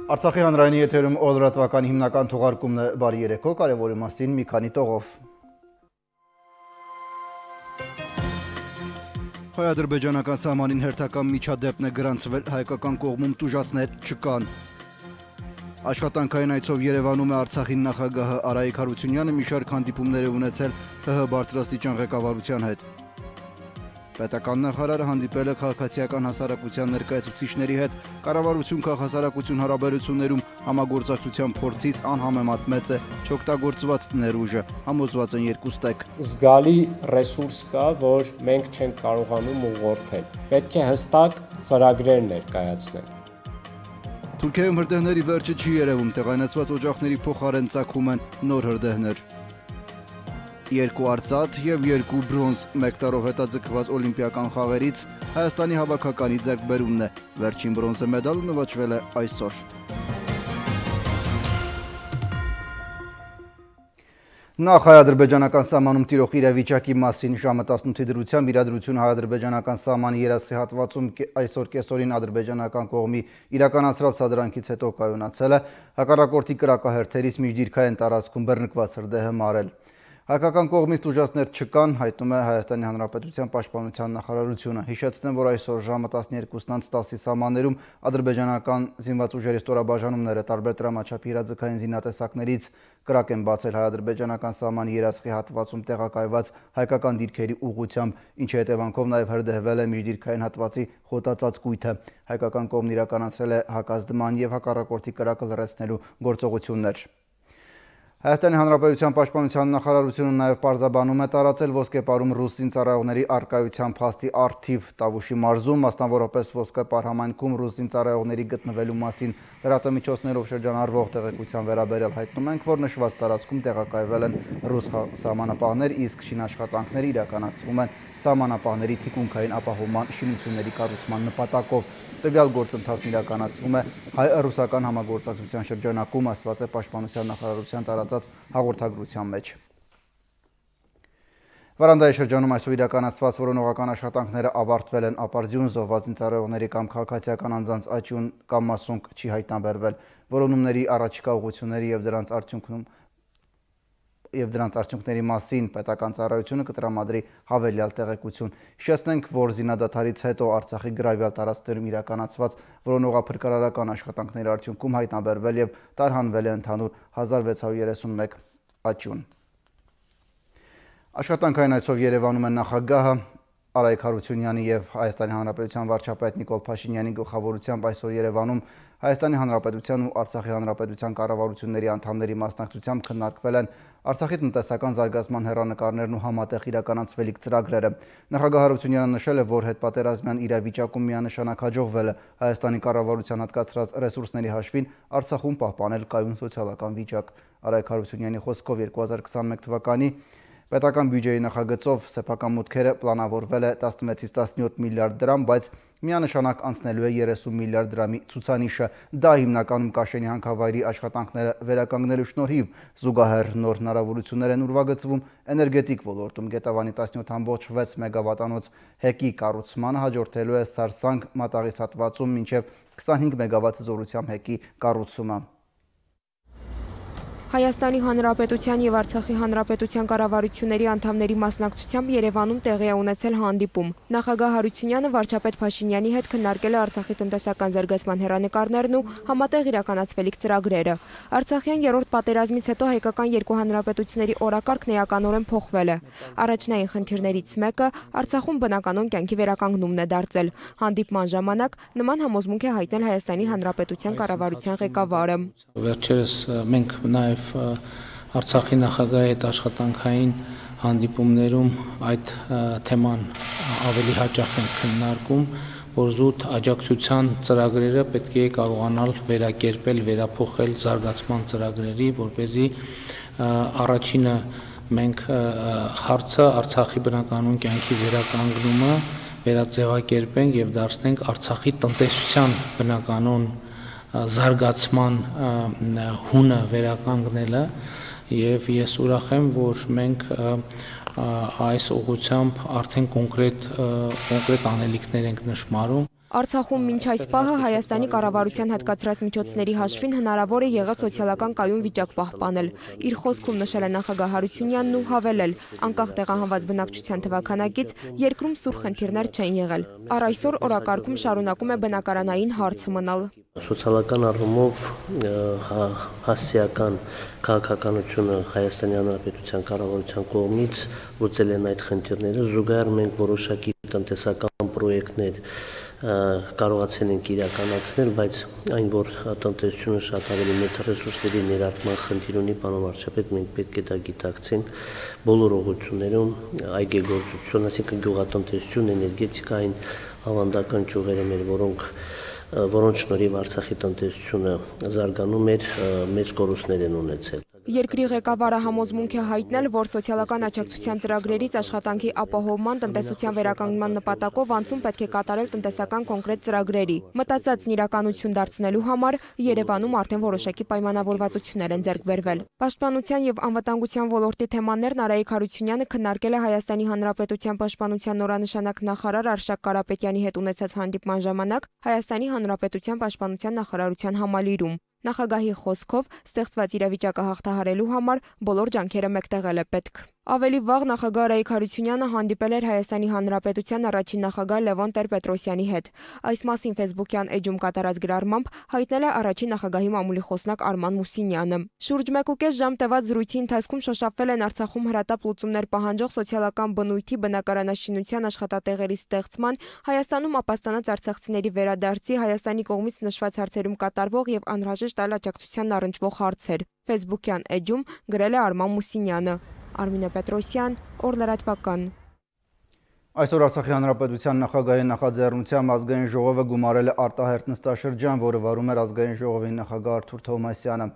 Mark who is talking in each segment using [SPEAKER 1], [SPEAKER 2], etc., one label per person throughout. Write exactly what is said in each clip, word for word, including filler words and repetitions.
[SPEAKER 1] Արցախի հանրայինի եթերում օրվա հիմնական թողարկումն է բարի երեկո, կարևորի մասին մի քանի տողով։ Հայ-ադրբեջանական սահմանին հերթական միջադեպն է գրանցվել, հայկական կողմում տուժածներ չկան։ Աշխատանքային այցով Երևանում է Արցախի նախագահը Արայիկ Հարությունյանը մի շարք հանդիպումներ է ունեցել ՀՀ բարձրաստիճան ղեկավարության հետ։ Պետական նախարարը հանդիպել է քաղաքացիական հասարակության ներկայացուցիչների հետ, կառավարություն քաղաքասարակություն հարաբերություններում համագործակցության փորձից անհամեմատ մեծ է չօգտագործված ներուժը, համոզված են երկուստեք։
[SPEAKER 2] Զգալի ռեսուրս կա, որ մենք չենք կարողանում ուղղորդել։ Պետք է հստակ ծրագրեր ներկայացնել։
[SPEAKER 1] Թուրքիայում հրդեհների վերջը չի երևում, տեղայնացված օջախների փոխարեն ծագում են նոր հրդեհներ։ Երկու արծաթ և երկու բրոնզ մեկ տարով հետաձգված օլիմպիական խաղերից Հայաստանի հավաքականի ձեռքբերումն է։ Վերջին բրոնզե մեդալը նվաճվել է այսօր։ Նախ հայ-ադրբեջանական սահմանում տիրող իրավիճակի մասին ժամը տասնութի դրությամբ իրադրությունը հայ-ադրբեջանական սահմանի երեսի հատվածում այսօր կեսօրին ադրբեջանական կողմի իրականացրած սադրանքից հետո կայունացել է, հակառակորդի կրակահերթերից միջդիրքային տարածքում բռնկված հրդեհը մարել։ Հայկական կողմից տուժածներ չկան, հայտնում է Հայաստանի Հանրապետության Պաշտպանության նախարարությունը։ Հիշեցնեմ, որ այսօր ժամը տասներկուսն տասի սահմաններում ադրբեջանական զինված ուժերի ստորաբաժանումները տարբեր տրամաչափի իրազեկային զինատեսակներից կրակ են բացել հայ-ադրբեջանական սահմանի երեսխի հատվածում տեղակայված հայկական դիրքերի ուղղությամբ, ինչի հետևանքով նաև հրդեհվել է միջդիրքային հատվածի խոտածածկույթը։ Հայկական կողմն իրականացրել է հակազդման և հակառակորդի կրակը լռեցնելու գործողություններ։ Հայաստանի Հանրապետության Պաշտպանության նախարարությունը նաև պարզաբանում է տարածել ոսկեպարում ռուս զինծառայողների առկայության փաստի առթիվ Տավուշի մարզում, մասնավորապես ոսկեպար համայնքում ռուս զինծառայողների գտնվելու մասին լրատվամիջոցներով շրջանառվող տեղեկության վերաբերյալ հայտնում ենք, որ նշված տարածքում տեղակայվել են ռուս սահմանապահներ, իսկ շինաշխատանքները իրականացվում են սահմանապահների թիկունքային ապահովման շինությունների կառուցման նպատակով։ Տվյալ գործընթացն իրականացվում է հայ-ռուսական համագործակցության շրջանակում, ասված է Պաշտպանության նախարարության տարածած հաղորդագրության մեջ։ Վարանդայի շրջանում այսօր իրականացված որոնողական աշխատանքները ավարտվել են, ապարդյուն զոհված զինծառայողների կամ քաղաքացիական անձանց աճյուն կամ մասունք չի հայտնաբերվել։ Որոնումների առաջիկա ուղղությունների և դրանց արդյունքում և դրանց արդյունքների մասին պետական ծառայությունը կտրամադրի հավելյալ տեղեկություն։ Հիշեցնենք, որ զինադադարից հետո Արցախի գրավյալ տարածքներում իրականացված որոնողափրկարարական աշխատանքների արդյունքում հայտնաբերվել և տարհանվել է ընդհանուր հազար վեց հարյուր երեսունմեկ աճյուն։ Աշխատանքային այցով Երևանում են նախագահը Արայիկ Հարությունյանի և Հայաստանի Հանրապետության վարչապետ Նիկոլ Փաշինյանի գլխավորությամբ այսօր Երևանում Հայաստանի Հանրապետության ու Արցախի Հանրապետության կառավարությունների անդամների մասնակցությամբ քննարկվել են Արցախի տնտեսական զարգացման հեռանկարներն ու համատեղ իրականացվելիք ծրագրերը։ Նախագահ Հարությունյանը նշել է, որ հետպատերազմյան իրավիճակում միանշանակ հաջողվել է Հայաստանի կառավարության հատկացրած ռեսուրսների հաշվին Արցախում պահպանել կայուն սոցիալական վիճակ։ Արայիկ Հարությունյանի խոսքով երկու հազար քսաներկու թվականի պետական բյուջեի նախագծով սեփական մուտքերը պլանավորվել է տասնվեցից տասնյոթ միլիարդ դրամ, բայց միանշանակ անցնելու է երեսուն միլիարդ դրամի ցուցանիշը։ Դա հիմնականում Կաշենի հանքավայրի աշխատանքները վերականգնելու շնորհիվ, զուգահեռ նոր հնարավորություններ են ուրվագծվում էներգետիկ ոլորտում։ Գետավանի տասնյոթ ամբողջ վեց մեգավատանոց հեկի կառուցմանը հաջորդելու է Սարսանք մատաղից հատվածում մինչև քսանհինգ մեգավատ զորությամբ հեկի կառուցումը։
[SPEAKER 3] Հայաստանի Հանրապետության և Արցախի Հանրապետության կառավարությունների անդամների մասնակցությամբ Երևանում տեղի է ունեցել հանդիպում։ Նախագահ Հարությունյանը վարչապետ Փաշինյանի հետ քննարկել է Արցախի տնտեսական զարգացման հեռանկարներն ու համատեղ իրականացվելիք ծրագրերը։ Արցախյան երրորդ պատերազմից հետո հայկական երկու հանրապետությունների օրակարգն էականորեն փոխվել է։ Առաջնային խնդիրներից մեկը Արցախում բնականոն կյանքի վերականգնումն է դարձել։ Հանդիպման ժամանակ նման համոզմունք է հայտնել Հայաստանի Հանրապետության կառավարության ղեկավարը։
[SPEAKER 4] Վերջերս մենք նաև Արցախի նախագահի հետ աշխատանքային հանդիպումներում այդ թեման ավելի հաճախ են քննարկում, որ զուտ աջակցության ծրագրերը պետք է կարողանալ վերակերպել, վերափոխել զարգացման ծրագրերի, որպեսզի առաջինը մենք հարցը Արցախի բնականոն կյանքի վերականգնումը վերաձևակերպենք և դարձնենք Արցախի տնտեսության բնականոն զարգացման հունը վերականգնելը, և ես ուրախ եմ, որ մենք այս ուղղությամբ արդեն կոնկրետ անելիքներ ենք նշմարում։
[SPEAKER 3] Արցախում մինչ այս պահը Հայաստանի կառավարության հատկացրած միջոցների հաշվին հնարավոր է եղել սոցիալական կայուն վիճակ պահպանել։ Իր խոսքում նշել է նախագահ Հարությունյանն ու հավելել, անկախ տեղահանված բնակչության թվաքանակից երկրում սուր խնդիրներ չեն եղել։ Առ այսօր օրակարգում շարունակում է բնակարանային հարցը մնալ։
[SPEAKER 5] Սոցիալական առումով հասարակական քաղաքականությունը Հայաստանի Հանրապետության կառավարության կողմից լուծել են այդ խնդիրները, զուգահեռ մենք որոշակի տնտեսական պրոյեկտներ կարողացել ենք իրականացնել, բայց այն, որ տնտեսությունը շատ ավելի մեծ ռեսուրսների ներարկման խնդիր ունի, պարոն վարչապետ, մենք պետք է դա գիտակցենք բոլոր ուղղություններում, այգեգործություն, այսինքն գյուղատնտեսություն, էներգետիկային ավանդական ճյուղերը մեր, որոնք որոնց շնորհիվ Արցախի տնտեսությունը զարգանում էր, մեծ կորուստներ են ունեցել։
[SPEAKER 3] Երկրի ղեկավարը համոզմունք է հայտնել, որ սոցիալական աջակցության ծրագրերից աշխատանքի ապահովման, տնտեսության վերականգնման նպատակով անցում պետք է կատարել տնտեսական կոնկրետ ծրագրերի։ Մտածածն իրականություն դարձնելու համար Երևանում արդեն որոշակի պայմանավորվածություններ են ձեռք բերվել։ Պաշտպանության եւ անվտանգության ոլորտի թեմաներն Արայիկ Հարությունյանը քննարկել է Հայաստանի Հանրապետության պաշտպանության նորանշանակ նախարար Արշակ Կարապետյանի հետ ունեցած հանդիպման ժամանակ Հայաստանի Հանրապետության պաշտպանության նախարարության համալիրում։ Նախագահի խոսքով ստեղծված իրավիճակը հաղթահարելու համար բոլոր ջանքերը մեկտեղել է պետք։ Ավելի վաղ նախագահ Արայիկ Հարությունյանը հանդիպել էր Հայաստանի Հանրապետության առաջին նախագահ Լևոն Տեր-Պետրոսյանի հետ։ Այս մասին ֆեյսբուքյան էջում կատարած գրառմամբ հայտնել է առաջին նախագահի մամուլի խոսնակ Արման Մուսինյանը։ Շուրջ մեկ ու կես ժամ տևած զրույցի ընթացքում շոշափվել են Արցախում հրատապ լուծումներ պահանջող սոցիալական բնույթի, բնակարանաշինության աշխատատեղերի ստեղծման, Հայաստանում ապաստանած արցախցիների վերադարձի, Հայաստանի կողմից նշված հարցերում կատարվող եւ անհրաժեշտ այլ աջակցության առնչվող հարցեր։ Ֆեյսբուքյան էջում գրել է Արման Մուսինյանը։ Արմինե Պետրոսյան, Օրլրատվական։
[SPEAKER 1] Այսօր Արցախի Հանրապետության նախագահի նախաձեռնությամբ ազգային ժողովը գումարել է արտահերթ նստաշրջան, որը վարում էր ազգային ժողովի նախագահ Արթուր Թովմասյանը։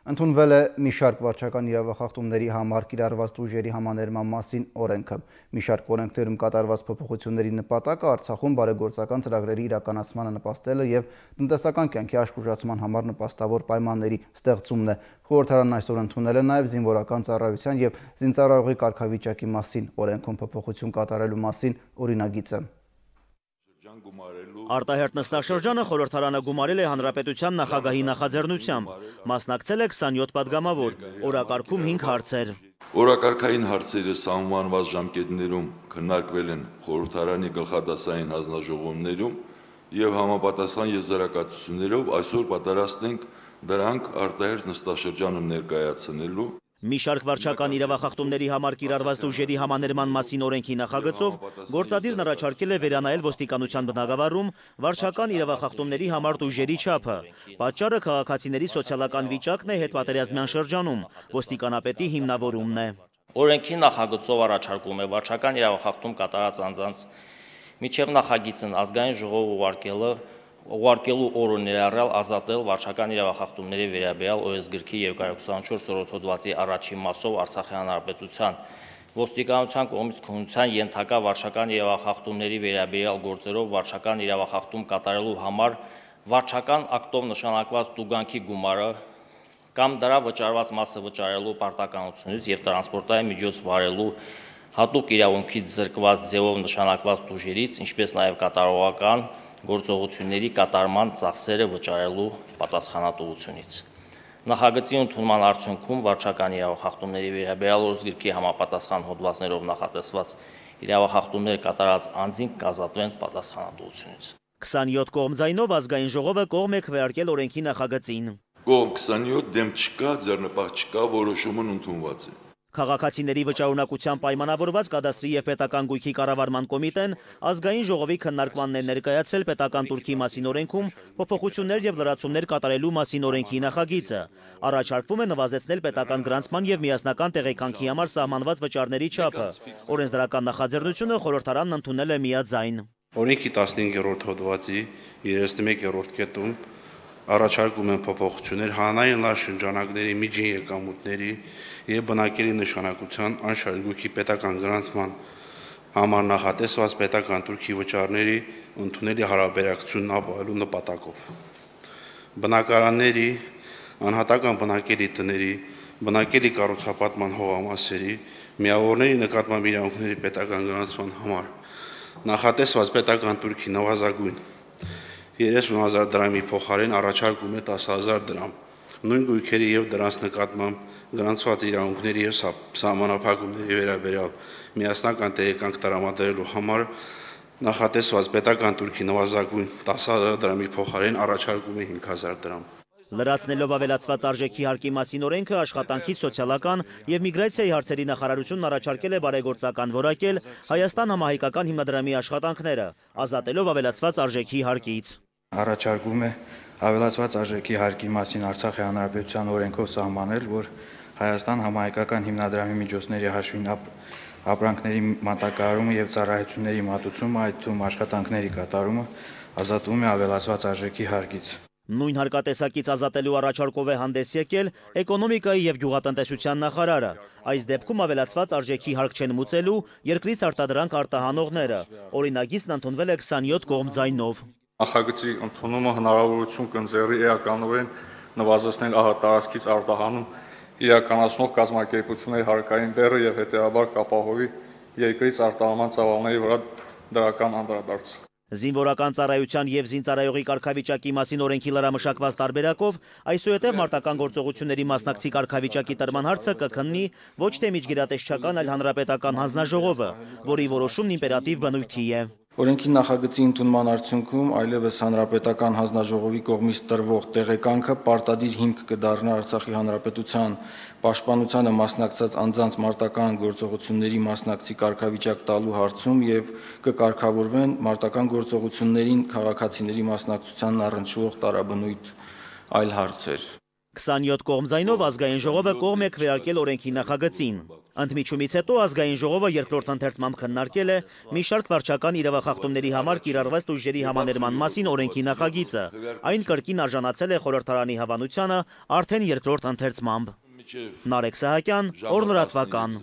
[SPEAKER 1] Ընդունվել է մի շարք վարչական իրավախախտումների համար կիրառված ուժերի համաներման մասին օրենքը։ Մի շարք օրենքներում կատարված փոփոխությունների նպատակը Արցախում բարեգործական ծրագրերի իրականացմանը նպաստելը եւ տնտեսական կյանքի աշխուժացման համար նպաստավոր պայմանների ստեղծումն է։ Խորհրդարանն այսօր ընդունել է նաեւ զինվորական ծառայության եւ զինծառայողի կարգավիճակի մասին օրենքում փոփոխություն կատարելու մասին օրինագիծը։
[SPEAKER 6] Արտահերթ նստաշրջանը խորհրդարանը գումարել է Հանրապետության նախագահի նախաձեռնությամբ։ Մասնակցել է քսանյոթ պատգամավոր, օրակարգում հինգ հարցեր։
[SPEAKER 7] Օրակարգային հարցերը սահմանված ժամկետներում քննարկվել են խորհրդարանի գլխադասային հանձնաժողովներում եւ համապատասխան եզրակացություններով այսօր պատրաստ ենք դրանք արտահերթ նստաշրջանում ներկայացնելու։
[SPEAKER 6] Մի շարք վարչական իրավախախտումների համար կիրառված ուժերի համաներման մասին օրենքի նախագծով գործադիրն առաջարկել է վերանայել ոստիկանության բնագավառում վարչական իրավախախտումների համար ուժերի չափը։ Պատճառը քաղաքացիների սոցիալական վիճակն է հետպատերազմյան շրջանում, ոստիկանապետի հիմնավորումն է։
[SPEAKER 8] Օրենքի նախագծով առաջարկում է վարչական իրավախախտում կատարած անձանց միջև նախագիծն ազգային ժողով ուղարկելը ուղարկելու օրը ներառյալ ազատել վարչական իրավախախտումների վերաբերյալ ՕԵՍ գրքի երկու հարյուր ութսանչորս օրոդ հոդվածի առաջին մասով Արցախի Հանրապետության ոստիկանության կողմից քննության ենթակա վարչական իրավախախտումների վերաբերյալ գործերով վարչական իրավախախտում կատարելու համար վարչական ակտով նշանակված տուգանքի գումարը կամ դրա վճարված մասը վճարելու պարտականությունից եւ տրանսպորտային միջոց վարելու հատուկ իրավունքից զրկված ձևով նշանակված ուժերից, ինչպես նաեւ կատարողական գործողությունների կատարման ծախսերը վճարելու պատասխանատվությունից։ Նախագծի ընդունման արդյունքում վարչական իրավախախտումների վերաբերյալ ՕԵՍ գրքի համապատասխան հոդվածներով նախատեսված իրավախախտումներ կատարած անձին կազատվեն պատասխանատվությունից։
[SPEAKER 6] քսանյոթ կողմ ձայնով ազգային ժողովը կողմ է քվեարկել օրենքի նախագծին։
[SPEAKER 7] Կողմ քսանյոթ դեմ չկա, ձեռնպահ չկա, որոշումն ընդունված է։
[SPEAKER 6] Քաղաքացիների վճարունակության պայմանավորված կադաստրի եւ պետական գույքի կառավարման կոմիտեն ազգային ժողովի քննարկմանն է ներկայացրել պետական турքի մասին օրենքում փոփոխություններ եւ լրացումներ կատարելու մասին օրենքի նախագիծը։ Առաջարկվում է նվազեցնել պետական գրանցման եւ միասնական տեղեկանքի համար սահմանված վճարների չափը։ Օրենսդրական նախաձեռնությունը խորհրդարանն ընդունել է միաձայն։
[SPEAKER 9] Օրենքի տասնհինգերորդ հոդվածի երեսնմեկերորդ կետում առաջարկում են փոփոխություններ հանրային լար շրջանակների միջին եկամուտների եւ բնակելի նշանակության անշարժ գույքի պետական գրանցման համար նախատեսված պետական турքի վճարների ընդունելի հարաբերակցությունն ապահովելու նպատակով։ Բնակարանների, անհատական բնակելի տների, բնակելի կառուցապատման հողամասերի, միավորների նկատմամբ իրավունքների պետական գրանցման համար նախատեսված պետական турքի նվազագույն երեսուն հազար դրամի փոխարեն առաջարկում է տասը հազար դրամ։ Նույն գույքերի եւ դրանց նկատմամբ գրանցված իրավունքների եւ սահմանափակումների վերաբերյալ միասնական տեղեկանք տրամադրելու համար նախատեսված պետական տուրքի նվազագույն տասը հազար դրամի փոխարեն առաջարկում է հինգ հազար դրամ։
[SPEAKER 6] Լրացնելով ավելացված արժեքի հարկի մասին օրենքը աշխատանքի, սոցիալական եւ միգրացիայի հարցերի նախարարությունն առաջարկել է բարեգործական որակել Հայաստան համահայկական հիմնադրամի աշխատանքները, ազատելով ավելացված արժեքի հարկից։
[SPEAKER 10] Առաջարկում է ավելացված արժեքի հարկի մասին Արցախի Հանրապետության օրենքով սահմանել, որ Հայաստան համահայկական հիմնադրամի միջոցների հաշվին ապրանքների մատակարարումը եւ ծառայությունների մատուցումը, այդ թվում աշխատանքների կատարումը ազատվում է ավելացված արժեքի հարկից։
[SPEAKER 6] Նույն հարկատեսակից ազատելու առաջարկով է հանդես եկել էկոնոմիկայի եւ գյուղատնտեսության նախարարը։ Այս դեպքում ավելացված արժեքի հարկ չեն մուծելու երկրից արտադրանք արտահանողները։ Օրինագիծն ընդունվել է քսանյոթ կողմ ձայնով։
[SPEAKER 11] Նախագծի ընդունումը հնարավորություն կընձեռի էականորեն նվազեցնել ահատարածքից արտահանում իրականացնող կազմակերպությունների հարկային բեռը եւ հետեւաբար կապահովի երկրից արտահանման ծավալների վրա դրական անդրադարձ։
[SPEAKER 6] Զինվորական ծառայության եւ զինծառայողի կարգավիճակի մասին օրենքի լրամշակված տարբերակով այսուհետև մարտական գործողությունների մասնակցի կարգավիճակի տրման հարցը կքննի ոչ թե միջգերատեսչական, այլ հանրապետական հանձնաժողովը, որի որոշումն իմպերատիվ բնույթի է։
[SPEAKER 10] Օրենքի նախագծի ընդունման արդյունքում այլևս հանրապետական հանձնաժողովի կողմից տրվող տեղեկանքը պարտադիր հիմք կդառնա Արցախի հանրապետության պաշտպանությանը մասնակցած անձանց մարտական գործողությունների մասնակցի կարգավիճակ տալու հարցում եւ կկարգավորվեն մարտական գործողություններին քաղաքացիների մասնակցությանն առնչվող տարաբնույթ այլ հարցեր։
[SPEAKER 6] քսանյոթ կողմ ձայնով ազգային ժողովը կողմ է քվեարկել օրենքի նախագծին։ Ընդմիջումից հետո ազգային ժողովը երկրորդ ընթերցմամբ քննարկել է մի շարք վարչական իրավախախտումների համար կիրառված ուժերի համաներման մասին օրենքի նախագիծը։ Այն կրկին արժանացել է խորհրդարանի հավանությանը արդեն երկրորդ ընթերցմամբ։ Նարեկ Սահակյան, Օրլրատվական։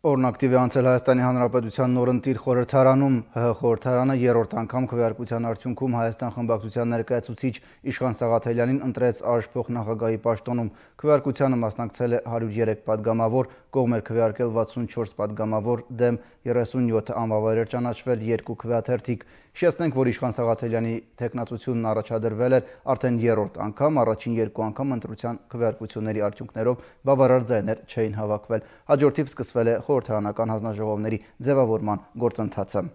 [SPEAKER 1] Օրն ակտիվ է անցել Հայաստանի Հանրապետության նորընտիր խորհրդարանում, ՀՀ խորհրդարանը երրորդ անգամ քվեարկության արդյունքում Հայաստան խմբակցության ներկայացուցիչ Իշխան Սաղաթելյանին ընտրեց ԱԺ փոխնախագահի պաշտոնում։ Քվեարկությանը մասնակցել է հարյուր երեք падգամավոր, կողմ էր քվեարկել վաթսունչորս падգամավոր, դեմ երեսունյոթ անվավեր էր ճանաչվել, երկու քվեաթերթիկ։ Հիշեցնենք, որ Իշխան Սաղաթելյանի թեկնածությունն առաջադրվել էր արդեն երրորդ անգամ, առաջին երկու անգամ ընտրության քվեարկությունների արդյունքներով բավարար ձայներ չէին հավաքվել։ Հաջորդիվ սկսվել է խորհրդարանական հանձնաժողովների ձևավորման գործընթացը։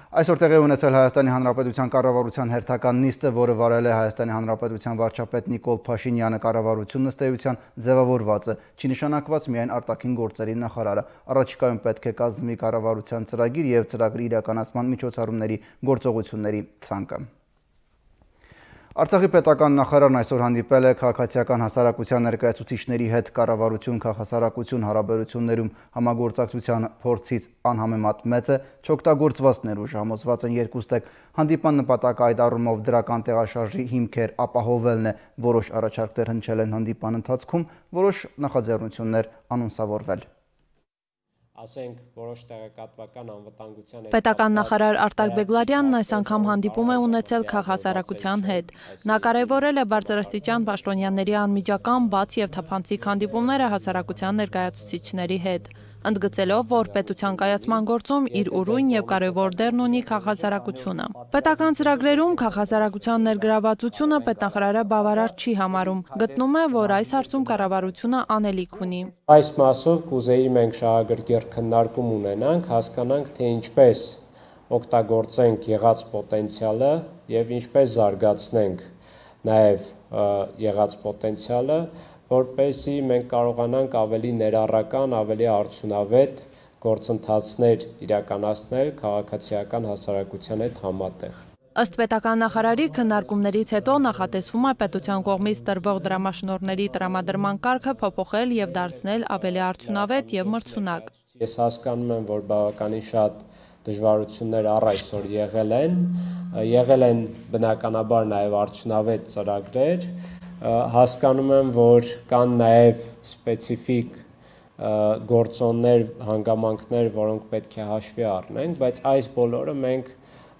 [SPEAKER 1] Այսօր տեղի ունեցել Հայաստանի Հանրապետության կառավարության հերթական նիստը, որը վարել է Հայաստանի Հանրապետության վարչապետ Նիկոլ Փաշինյանը, կառավարությունն ըստ էության ձևավորված է, չի նշանակված միայն արտաքին գործերի նախարարը։ Առաջիկայում պետք է կազմի կառավարության ծրագիր եւ ծրագրի իրականացման միջոցառումների գործողությունների ցանկը։ Արցախի պետական նախարարն այսօր հանդիպել է քաղաքացիական հասարակության ներկայացուցիչների հետ կառավարություն քաղաքասարակություն հարաբերություններում համագործակցության փորձից անհամեմատ մեծ է, չօգտագործված ներուժ համոզված են երկուստեք։ Հանդիպան նպատակը այդ առումով դրական տեղաշարժի հիմքեր ապահովելն է, որոշ առաջարկներ հնչել են հանդիպան ընթացքում, որոշ նախաձեռնություններ անոնսավորվել։
[SPEAKER 2] Ասենք որոշ տեղեկատվական անվտանգության
[SPEAKER 12] Պետական նախարար Արտակ Բեգլարյանն այս անգամ հանդիպում է ունեցել քաղաքասարակության հետ։ Նա կարևորել է բարձրաստիճան պաշտոնյաների անմիջական, բաց եւ թափանցիկ հանդիպումները հասարակության ներկայացուցիչների հետ, ընդգծելով, որ պետության կայացման գործում իր ուրույն եւ կարևոր դերն ունի քաղաքասարակությունը։ Պետական ծրագրերում քաղաքասարակության ներգրավվածությունը պետնախարարը բավարար չի համարում, գտնում է, որ այս հարցում կառավարությունը անելիք ունի։
[SPEAKER 2] Այս մասով կուզեի մենք շահագրգիռ քննարկում ունենանք, հասկանանք, թե ինչպես օգտագործենք եղած պոտենցիալը եւ ինչպես զարգացնենք նաեւ եղած պոտենցիալը, որպեսզի մենք կարողանանք ավելի ներառական, ավելի արդյունավետ գործընթացներ իրականացնել քաղաքացիական հասարակության հետ համատեղ։
[SPEAKER 12] Ըստ պետական նախարարի քննարկումներից հետո նախատեսվում է պետության կողմից տրվող դրամաշնորհների տրամադրման կարգը փոփոխել եւ դարձնել ավելի արդյունավետ եւ մրցունակ։
[SPEAKER 2] Ես հասկանում եմ, որ բավականին շատ դժվարություններ առ այսօր եղել են, եղել են բնականաբար նաեւ արդյունավետ ծրագրեր, հասկանում եմ, որ կան նաեւ սպეციფიկ գործոններ, հանգամանքներ, որոնք պետք է հաշվի առնենք, բայց այս բոլորը մենք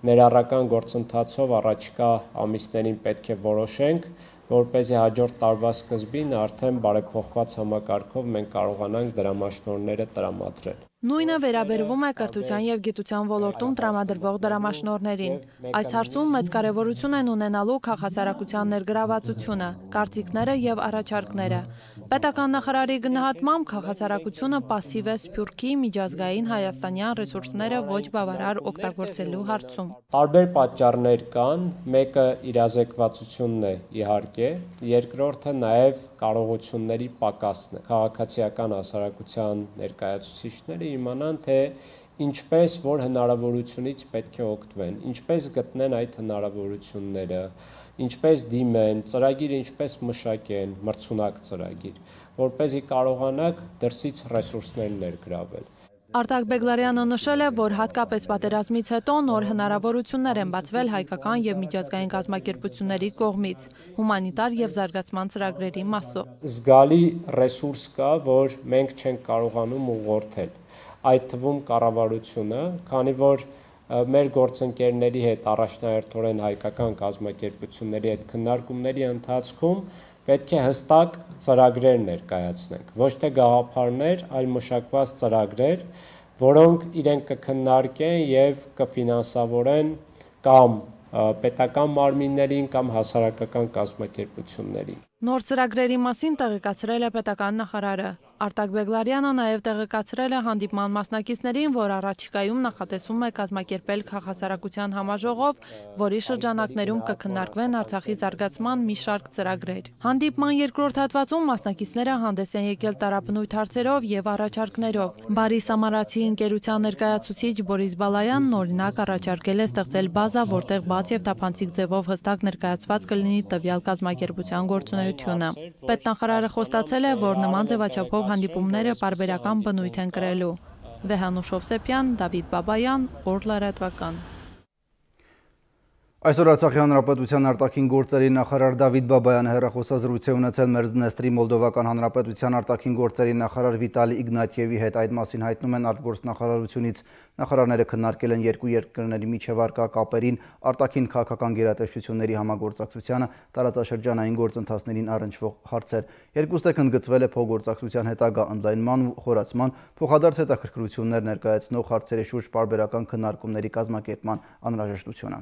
[SPEAKER 2] ներառական գործընթացով առաջիկա ամիսներին պետք է որոշենք, որպեսզի հաջորդ տարվա սկզբին արդեն բարեփոխված համակարգով մենք կարողանանք դրամաշնորհները տրամադրել։
[SPEAKER 12] Նույնը վերաբերվում է կրթության և գիտության ոլորտում տրամադրվող դրամաշնորհներին։ Այս հարցում մեծ կարևորություն են ունենալու քաղաքասարակության ներգրավվածությունը, կարծիքները և առաջարկները։ Պետական նախարարի գնահատմամբ քաղաքասարակությունը պասիվ է Սփյուռքի միջազգային հայաստանյան ռեսուրսները ոչ բավարար օգտագործելու հարցում։
[SPEAKER 2] Տարբեր պատճառներ կան, մեկը իրազեկվածությունն է իհարկե, երկրորդը նաև կարողությունների պակասն է։ Քաղաքացիական հասարակության ներկայացուցիչները իմանան, թե ինչպես որ հնարավորությունից պետք է օգտվեն, ինչպես գտնեն այդ հնարավորությունները, ինչպես դիմեն, ծրագիր ինչպես մշակեն, մրցունակ ծրագիր, որպեսզի կարողանաք դրսից ռեսուրսներ ներգրավել։
[SPEAKER 12] Արտակ Բեգլարյանը նշել է, որ հատկապես պատերազմից հետո նոր հնարավորություններ են բացվել հայկական և միջազգային կազմակերպությունների կողմից, հումանիտար և զարգացման ծրագրերի մասով։
[SPEAKER 2] Զգալի ռեսուրս կա, որ մենք չենք կարողանում ուղղորդել, այդ թվում կառավարությունը, քանի որ մեր գործընկերների հետ, առաջնահերթորեն հայկական կազմակերպությունների հետ քննարկումների ընթացքում պետք է հստակ ծրագրեր ներկայացնենք, ոչ թե գաղափարներ, այլ մշակված ծրագրեր, որոնք իրենք կքննարկեն և կֆինանսավորեն կամ պետական մարմիններին կամ հասարակական կազմակերպություններին։
[SPEAKER 12] Նոր ծրագրերի մասին տեղեկացրել է պետական նախարարը։ Արտակ Բեգլարյանը նաև տեղեկացրել է հանդիպման մասնակիցներին, որ առաջիկայում նախատեսվում է կազմակերպել քաղաքասարակության համաժողով, որի շրջանակներում կքննարկվեն Արցախի զարգացման մի շարք ծրագրեր։ Հանդիպման երկրորդ հատվածում մասնակիցները հանդես են եկել տարաբնույթ հարցերով և առաջարկներով։ Բարի Սամարացի ընկերության ներկայացուցիչ Բորիս Բալայանն օրինակ առաջարկել է ստեղծել բազա, որտեղ բաց և թափանցիկ ձևով հստակ ներկայացված կլինի տվյալ կազմակերպության գործունեությունը։ Պետնախարարը խոստացել է, որ նման ձևաչափով հանդիպումները պարբերական բնույթ են կրելու։ Վեհանուշ Հովսեփյան, Դավիթ Բաբայան, Օր լրատվական։
[SPEAKER 1] Այսօր Արցախի Հանրապետության արտաքին գործերի նախարար Դավիթ Բաբայանը հեռախոսազրույց է ունեցել Մերձդնեստրի Մոլդովական Հանրապետության արտաքին գործերի նախարար Վիտալի Իգնատիևի հետ։ Այդ մասին հայտնում են արտգործնախարարությունից։ Նախարարները քննարկել են երկու երկրների միջև առկա կապերին, արտաքին քաղաքական գերատեսչությունների համագործակցությանը, տարածաշրջանային գործընթացներին առնչվող հարցեր։ Երկուստեք ընդգծվել է փոխգործակցության հետագա ընդլայնման ու խորացման, փոխադարձ հետաքրքրություններ ներկայացնող հարցերի շուրջ պարբերական քննարկումների կազմակերպման անհրաժեշտությունը։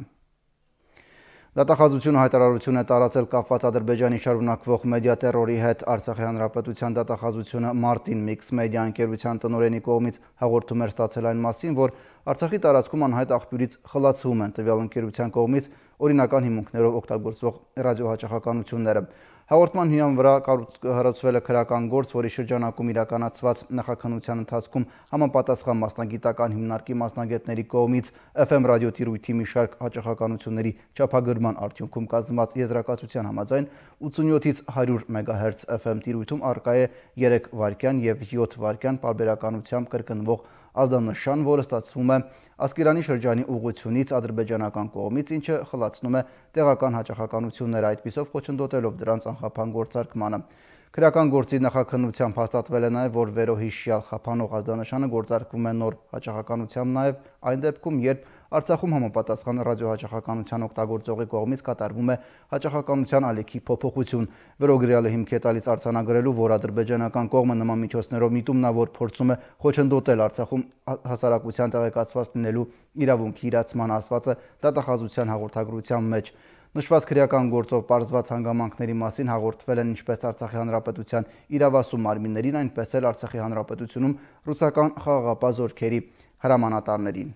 [SPEAKER 1] Դատախազությունը հայտարարություն է տարածել կապված Ադրբեջանի շարունակվող մեդիա տերորի հետ։ Արցախի Հանրապետության դատախազությունը Մարտին Միքս մեդիա ընկերության տնօրենի կողմից հաղորդում էր ստացել այն մասին, որ Արցախի տարածքում անհայտ աղբյուրից խլացվում են տվյալ ընկերության կողմից օրինական հիմունքներով օգտագործվող ռադիոհաճախականությունները։ Հաղորդման հիման վրա կառուցվել է քրական գործ, որի շրջանակում իրականացված նախաքննության ընթացքում համապատասխան մասնագիտական հիմնարկի մասնագետների կողմից Էֆ Էմ ռադիոտիրույթի մի շարք հաճախականությունների չափագրման արդյունքում կազմված եզրակացության համաձայն ութսունյոթից հարյուր մեգահերց Էֆ Էմ տիրույթում առկա է երեք վայրկյան և յոթ վայրկյան պարբերականությամբ կրկնվող ազդանշան, որը ստացվում է Ասկերանի շրջանի ուղղությունից ադրբեջանական կողմից, ինչը խլացնում է տեղական հաճախականությունները, այդպիսով խոչընդոտելով դրանց անխափան գործարկմանը։ Քրեական գործի նախաքննությամբ հաստատվել է նաև, որ վերոհիշյալ խափանող ազդանշանը գործարկվում է նոր հաճախականությամբ նաև այն դեպքում, երբ Արցախում համապատասխան ռադիոհաճախականության օգտագործողի կողմից կատարվում է հաճախականության ալիքի փոփոխություն։ Վերոգրյալը հիմք է տալիս արձանագրելու, որ ադրբեջանական կողմը նման միջոցներով միտումնավոր փորձում է խոչընդոտել Արցախում հասարակության տեղեկացված լինելու իրավունքի իրացման ասվածը դատախազության հաղորդագրության մեջ։ Նշված քրեական գործով պարզված հանգամանքների մասին հաղորդվել են ինչպես Արցախի Հանրապետության իրավասու մարմիններին, այնպես էլ Արցախի Հանրապետությունում ռուսական խաղաղապահ զորքերի հրամանատարներին։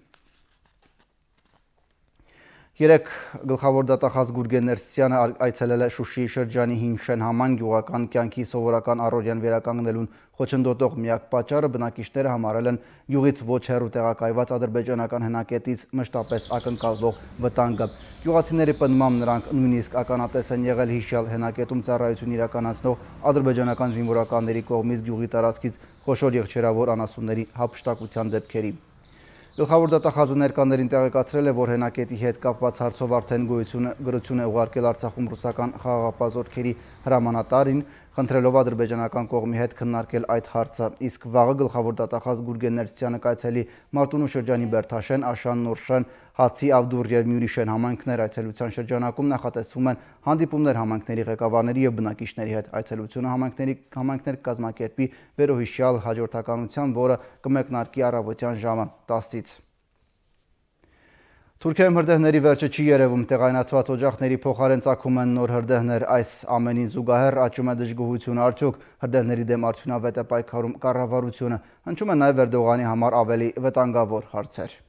[SPEAKER 1] Երեք գլխավոր դատախազ Գուրգեն Ներսիսյանը այցելել է Շուշիի շրջանի Հինշեն համայն գյուղական կյանքի սովորական առօրյան վերականգնելուն խոչընդոտող միակ պատճառը բնակիչները համարել են գյուղից ոչ հեռու տեղակայված ադրբեջանական հենակետից մշտապես ակնկալվող վտանգը։ Գյուղացիների պնդմամբ նրանք նույնիսկ ականատես են եղել հիշյալ հենակետում ծառայություն իրականացնող ադրբեջանական զինվորականների կողմից գյուղի տարածքից խոշոր եղջերավոր անասունների հափշտակության դեպքերի։ Գլխավոր դատախազը ներկաներին տեղեկացրել է, որ հենակետի հետ կապված հարցով արդեն գոյություն է ուղարկել Արցախում ռուսական խաղաղապահ զորքերի հրամանատարին, խնդրելով ադրբեջանական կողմի հետ քննարկել այդ հարցը, իսկ վաղը գլխավոր դատախազ Գուրգեն Ներսիսյանը կայցելի Մարտունու շրջանի Բերթաշեն, Աշան, Նորշեն, Հացի, Ավդուր և Մյուրիշեն համայնքներ այցելության շրջանակում նախատեսվում են հանդիպումներ համայնքների ղեկավարների և բնակիչների հետ։ Այցելությունը համայնքներ կազմակերպի վերոհիշյալ հաջորդականությամբ, որը կմեկնարկի առավոտյան ժամը տասից։ Թուրքիայում հրդեհների վերջը չի երևում, տեղայնացված օջախների փոխարեն ծագում են նոր հրդեհներ, այս ամենին զուգահեռ աճում է դժգոհությունը, արդյոք հրդեհների դեմ արդյունավետ է պայքարում կառավարությունը, հնչում է նաև Էրդողանի համար ավելի վտանգավոր հարցեր։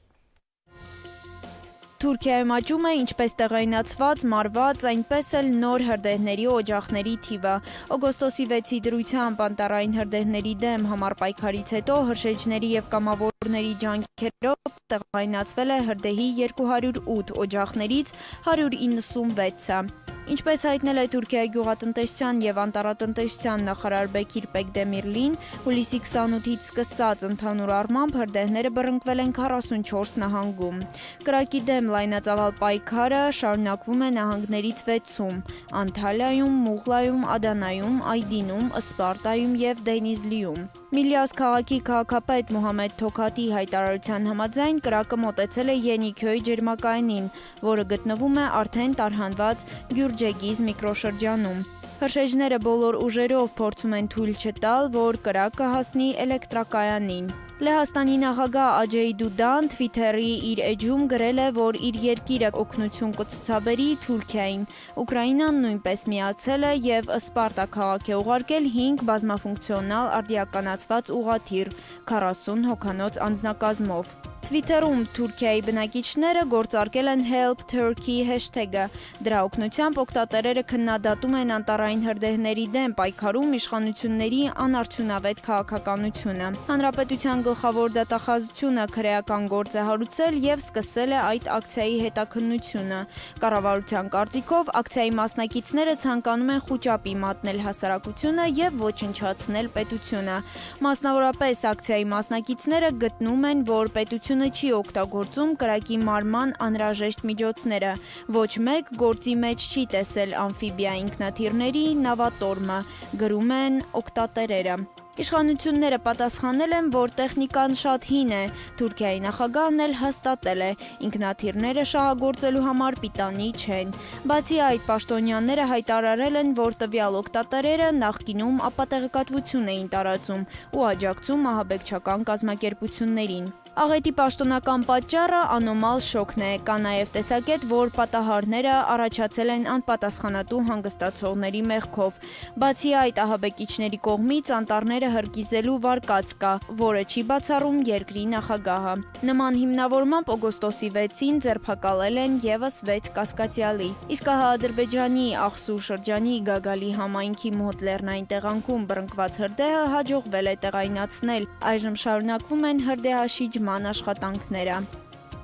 [SPEAKER 12] Թուրքիայում աճում է ինչպես տեղայնացված, մարված, այնպես էլ նոր հրդեհների օջախների թիվը։ Օգոստոսի վեցի դրությամբ անտառային հրդեհների դեմ համար պայքարից հետո հրշեջների և կամավորների ջանքերով տեղայնացվել է հրդեհի երկու հարյուր ութ օջախներից հարյուր իննսունվեցը։ Ինչպես հայտնել է Թուրքիայի գյուղատնտեսության և անտառատնտեսության նախարար Բեկիր Պեկդեմիրլին, հուլիսի քսանութից սկսած ընդհանուր առմամբ հրդեհները բռնկվել են քառասունչորս նահանգում։ Կրակի դեմ լայնածավալ պայքարը շարունակվում է նահանգներից վեցում՝ Անթալիայում, Մուղլայում, Ադանայում, Այդինում, Սպարտայում և Դենիզլիում։ Միլիաս քաղաքի քաղաքապետ Մուհամեդ Թոքատի հայտարարության համաձայն կրակը մոտեցել է Ենիքյոյի ջերմակայանին, որը գտնվում է արդեն տարհանված Գյուրջեգիզ միկրոշրջանում։ Հրշեջները բոլոր ուժերով փորձում են թույլ չտալ, որ կրակը հասնի էլեկտրակայանին։ Լեհաստանի նախագահ Աջեյ Դուդան Թվիթերի իր էջում գրել է, որ իր երկիրը օգնություն կցուցաբերի Թուրքիային։ Ուկրաինան նույնպես միացել է և Սպարտա քաղաք է ուղարկել հինգ բազմաֆունկցիոնալ արդիականացված ուղղաթիռ քառասուն հոգանոց անձնակազմով։ Թվիթերում Թուրքիայի բնակիչները գործարկել են Help Turkey հեշթեգը։ Դրա օգնությամբ օգտատերերը քննադատում են անտառային հրդեհների դեմ պայքարում իշխանությունների անարդյունավետ քաղաքականությունը։ Հանրապետության գլխավոր դատախազությունը քրեական գործ է հարուցել և սկսել է այդ ակցիայի հետաքննությունը։ Կառավարության կարծիքով ակցիայի մասնակիցները ցանկանում են խուճապի մատնել հասարակությունը և ոչնչացնել պետությունը։ Մասնավորապես ակցիայի մասնակիցները գտնում են, որ պետությունը չի օգտագործում կրակի մարման անհրաժեշտ միջոցները։ Ոչ մեկ գործի մեջ չի տեսել ամֆիբիա ինքնաթիռների նավատորմը, գրում են օգտատերերը։ Իշխանությունները պատասխանել են, որ տեխնիկան շատ հին է, Թուրքիայի նախագահն էլ հաստատել է, ինքնաթիռները շահագործելու համար պիտանի չեն։ Բացի այդ, պաշտոնյաները հայտարարել են, որ տվյալ օգտատերերը նախկինում ապատեղեկատվություն էին տարածում ու աջակցում ահաբեկչական կազմակերպություններին։ Աղետի պաշտոնական պատճառը անոմալ շոկն է, կա նաև տեսակետ, որ պատահարները առաջացել են անպատասխանատու հանգստացողների մեղքով։ Բացի այդ, ահաբեկիչների կողմից անտառները հրկիզելու վարկած կա, որը չի բացառում երկրի նախագահը։ Նման հիմնավորմամբ օգոստոսի վեցին ձերբակալել են ևս վեց կասկածյալի։ Իսկ ահա Ադրբեջանի Աղսու շրջանի Գագալի համայնքի մոտ լեռնային տեղանքում բռնկված հրդեհը հաջողվել է տեղայնացնել։ Այժմ շարունակվում են հրդեհաշիջման աշխատանքները։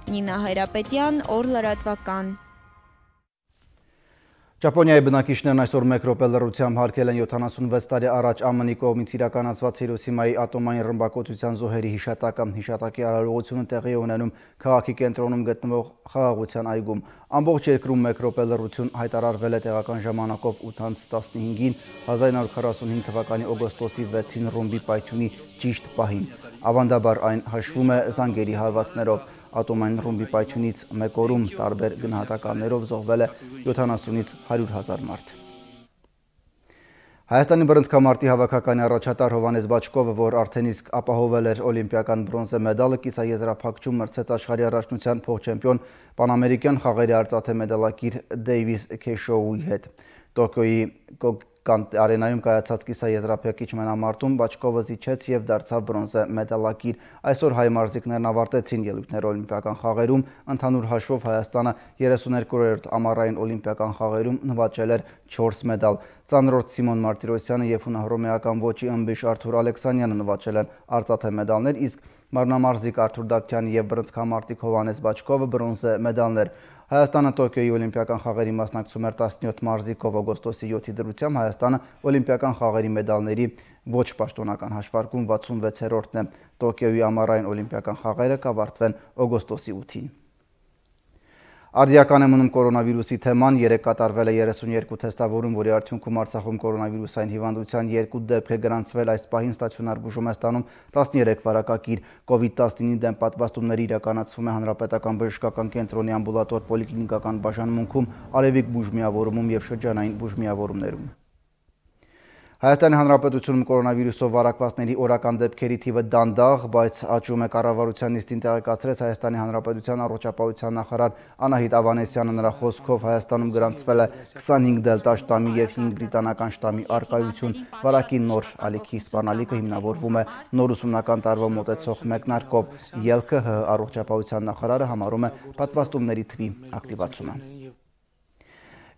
[SPEAKER 12] Նինա Հայրապետյան, օր լրատվական։
[SPEAKER 1] Ճապոնիայի բնակիչներն այսօր մեկ րոպե լռությամբ հարգել են յոթանասունվեց տարի առաջ ԱՄՆ-ի կողմից իրականացված Հիրոսիմայի ատոմային ռմբակոծության զոհերի հիշատակը։ Հիշատակի արարողությունը տեղի է ունենում քաղաքի կենտրոնում գտնվող Խաղաղության այգում։ Ամբողջ երկրում մեկ րոպե լռություն հայտարարվել է տեղական ժամանակով ութ տասնհինգին հազար իննսուն քառասունհինգ թվականի օգոստոսի վեցին ռումբի պայթյունի ճիշտ պահին։ Ավանդաբար այն հաշվում է զանգերի հարվածներով։ Ատոմային ռումբի պայթյունից մեկ օրում տարբեր գնահատականներով զոհվել է յոթանասունից հարյուր հազար մարդ։ Հայաստանի բռնցքամարտի հավաքականի առաջատար Հովհաննես Բաչկովը, որ արդեն իսկ ապահովել էր օլիմպիական բրոնզե մեդալը, կիսաեզրափակչում մրցեց աշխարհի առաջնության փոխչեմպիոն պանամերիկյան խաղերի արծաթե մեդալակիր Դեյվիս Քեշոուի հետ։ Տոկիոյի արենայում կայացած կիսաեզրափակիչ մենամարտում Բաչկովը զիջեց և դարձավ բրոնզե մեդալակիր։ Այսօր հայ մարզիկներն ավարտեցին ելույթները օլիմպիական խաղերում, ընդհանուր հաշվով Հայաստանը երեսուներկորերորդ ամառային օլիմպիական խաղերում նվաճել էր չորս մեդալ։ Ծանրորդ Սիմոն Մարտիրոսյանը և հունահռոմեական ոճի ըմբիշ Արթուր Ալեքսանյանը նվաճել են արծաթե մեդալներ, իսկ մարմնամարզիկ Արթուր Դավթյանը և բռնցքամարտիկ Հովհաննես Բաչկովը բրոնզե մեդալներ։ Հայաստանը Տոկիոյի օլիմպիական խաղերի մասնակցում էր տասնյոթ մարզիկով։ օգոստոսի յոթի դրությամբ Հայաստանը օլիմպիական խաղերի մեդալների ոչ պաշտոնական հաշվարկում վաթսունվեցերորդն է։ Տոկիոյի ամառային օլիմպիական խաղերը կավարտվեն օգոստոսի ութին։ Արդիական է մնում կորոնավիրուսի թեման, երեկ կատարվել է երեսունյերկու թեստավորում, որի արդյունքում Արցախում կորոնավիրուսային հիվանդության երկու դեպք է գրանցվել, այս պահին ստացիոնար բուժում է ստանում տասներեք վարակագիր։ կովիդ տասնինի դեմ պատվաստումները իրականացվում է Հանրապետական բժշկական կենտրոնի ամբուլատոր պոլիկլինիկական բաժանմունքում, Արևիկ բուժմիավորումում և շրջանային բուժմիավորումներում։ Հայաստանի Հանրապետությունում կորոնավիրուսով վարակվածների օրական դեպքերի թիվը դանդաղ, բայց աճում է կառավարության նիստին տեղեկացրեց Հայաստանի Հանրապետության առողջապահության նախարար Անահիտ Ավանեսյանը, նրա խոսքով Հայաստանում գրանցվել է քսանհինգ դելտա շտամի և հինգ բրիտանական շտամի առկայություն, վարակի նոր ալիքի սպառնալիքը հիմնավորվում է նոր ուսումնական տարվա մոտեցող մեկնարկով, ելքը ՀՀ առողջապահության նախարարը համարում է պատվաստումների թվի ակտիվացումը։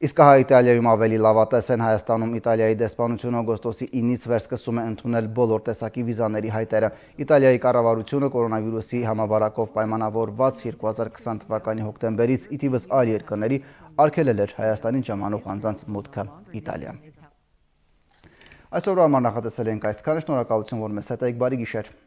[SPEAKER 1] Իսկ հա Իտալիայում ավելի լավատես են Հայաստանում Իտալիայի դեսպանությունը օգոստոսի ինից վեր սկսում է ընդունել բոլոր տեսակի վիզաների հայտերը։ Իտալիայի կառավարությունը կորոնավիրուսի համավարակով պայմանավորված երկու հազար քսան թվականի հոկտեմբերից ի թիվս այլ երկրների արգելել էր Հայաստանին ժամանող անձանց մուտքը Իտալիա։ Այսօրվա համար նախատեսել ենք այսքանը, շնորհակալություն, որ մեզ հետ եք, բարի գիշեր։